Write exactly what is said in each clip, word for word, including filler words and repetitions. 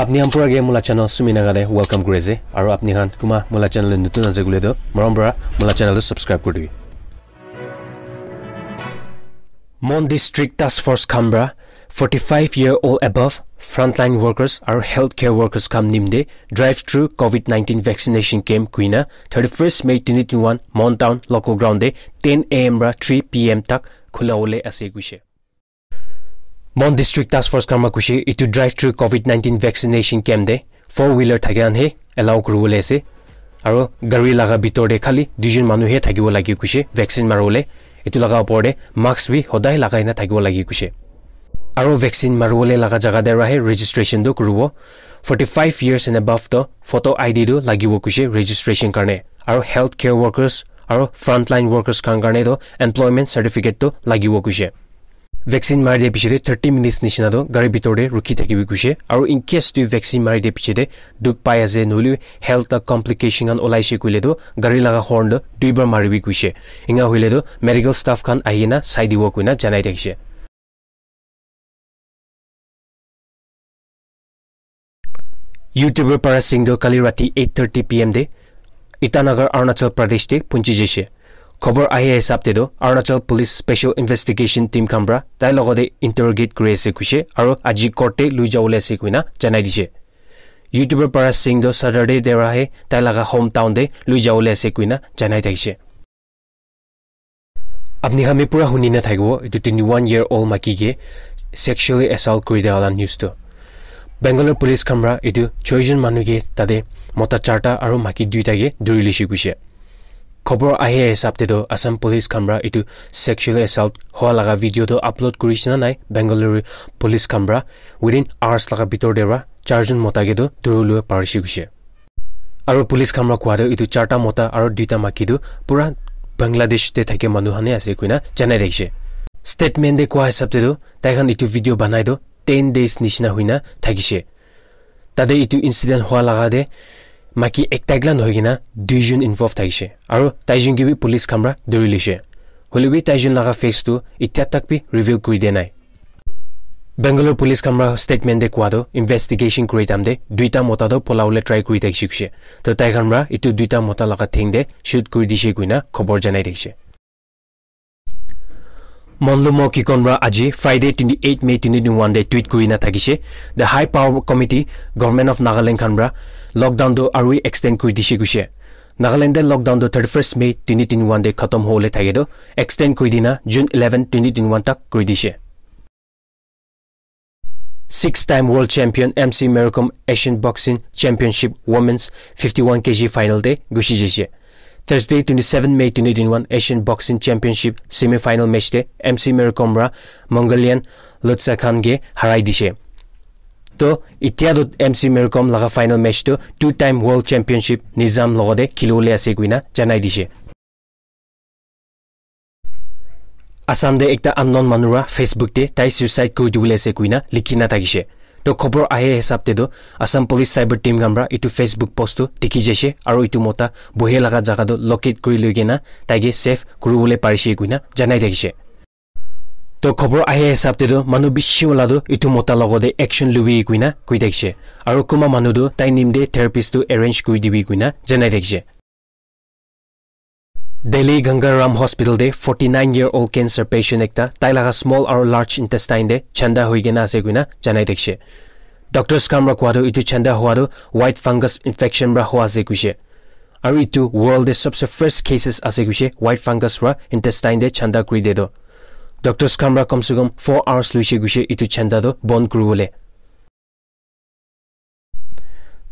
Apni khan pura ke mula channel Sumi Naga de welcome kuri ase. Aru apni khan kuma mula channel de nutun ase koile toh, morom para mula channel tu subscribe kuri dibi. Mon District Task Force khan para forty-five year old above frontline workers aru healthcare workers khan nimde drive through covid nineteen vaccination camp kuina thirty-first May twenty twenty-one Mon Town local ground de ten A M para three P M tak khula wole ase kuishe. Mon District Task Force khan para kuishe itu drive through covid nineteen vaccination camp de four wheeler thake khan he allow kuri wole ase. Aru gari laga bitor de khali duijon manu he thakibo lage kuishe vaccine mari wole. Itu laga opor de mask bi hodai lagai na thakibo lage kuishe. Aru vaccine mari wole laga jaga de rahe registration tu kuribo. Forty-five years and above to photo I D tu lagibo kuishe registration karne. Aru healthcare workers aru frontline workers khan karne to employment certificate tu lagibo kuishe. Vaccine mari de piche de thirty minutes nishina to gari bitor de rukhi thakibi kuishe. Aru in case tu vaccine mari de piche de dukh pai ase nohole health la complication khan olaishe koile to gari laga horn to duibar maribi kuishe. Inga hoile to medical staff khan ahina sai dibo kuina janai thakishe. YouTuber Paras Singh to kali rati eight thirty P M de Itanagar, Arunachal Pradesh de punchi jaishe. Khobor ahi hisab te to Arunachal Police Special Investigation Team khan para tai logote interrogate kuri ase kuishe aru aji court te lui jawole ase kuina janai dishe. YouTuber Paras Singh to Saturday de rahe tai laga hometown de lui jawole ase kuina janai thakishe. Apni khan bi pura huni na thakibo, itu twenty-one year old maki ke sexually assault kuri dia wala news tu. Bangalore police khan para itu choijon manu ke tate mota charta aru maki duita ke duri lishi kuishe. Khobor ahi hisab te to Assam police khan para itu sexually assault hoa laga video to upload kuri shina nai Bangalore police khan para within hours laga bitor de para charjon mota ke to duri lua parishi kuishe. Aru police khan para koa tu itu charta mota aru duita maki tu pura Bangladesh te thake manu khan he ase kuina janai rakhishe. Statement de koa hisab te tu tai khan itu video banai tu ten days nishina huina thakishe. Tate itu incident hoa laga de maki ekta ekla nohoi kena duijon involve thakishe. Aru taijon ke bi police khan para duri lishe. Hoile bi taijon laga face tu itya tak bi reveal kuri dia nai. Bangalore police khan para statement de koa tu investigation kuri time de duita mota tu polawole try kuri thakishe kuishe. To tai khan para itu duita mota laga theng de shoot kuri dishe kuina khobor janai thakishe. Monlumo Kikon para aji Friday twenty-eight May twenty twenty-one de tweet kuri na thakishe. The High Power Committee, Government of Nagaland khan para lockdown tu aru extend kuri dishe kuishe. Nagaland de lockdown tu thirty-first May twenty twenty-one de khatam hole thake tu extend kuri dina June eleven twenty twenty-one tak kuri dishe. Six time world champion M C Mary Kom Asian Boxing Championship Women's fifty-one K G final de gushi jaishe. Thursday twenty-seven May twenty twenty-one Asian Boxing Championship semi final match de M C Mary Kom para Mongolian Lotsa Khan ke harai dishe. To itya to M C Mary Kom laga final match to two time world championship Nizam logote khilibole ase kuina janai dishe. Assam de ekta unknown manu para Facebook de tai suicide kuri dibole ase kuina likhi na thakishe. To khobor ahe hisab te to Assam Police Cyber Team khan para itu Facebook post to dikhi jaishe aru itu mota bohe laga jaga to locate kuri loi kena tai ke save kuri bole parishe kuina janai thakishe. To khobor ahe hisab te to manu bishi wala to itu mota logote action lubi kuina koi thakishe. Aru kunba manu to tai nimite therapist to arrange kuri dibi kuina janai thakishe. Delhi Ganga Ram Hospital de forty-nine year old cancer patient ekta tai laga small aru large intestine de chanda hoi kena ase kuina janai thakishe. Doctors khan para koa tu itu chanda hua tu white fungus infection para hua ase kuishe. Aru itu world de sabse first cases ase kuishe white fungus para intestine de chanda kuri de to. Doctors khan para kam se kam four hours luishe kuishe itu chanda to bon kuri bole.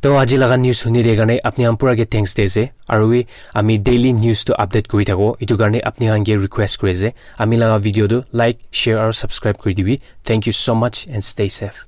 To aji laga news huni de karne apni khan pura ke thanks de ase. Aru wi ami daily news to update kuri thako. Itu karne apni khan ke request kuri ase. Ami laga video to like, share aru subscribe kuri dibi. Thank you so much and stay safe.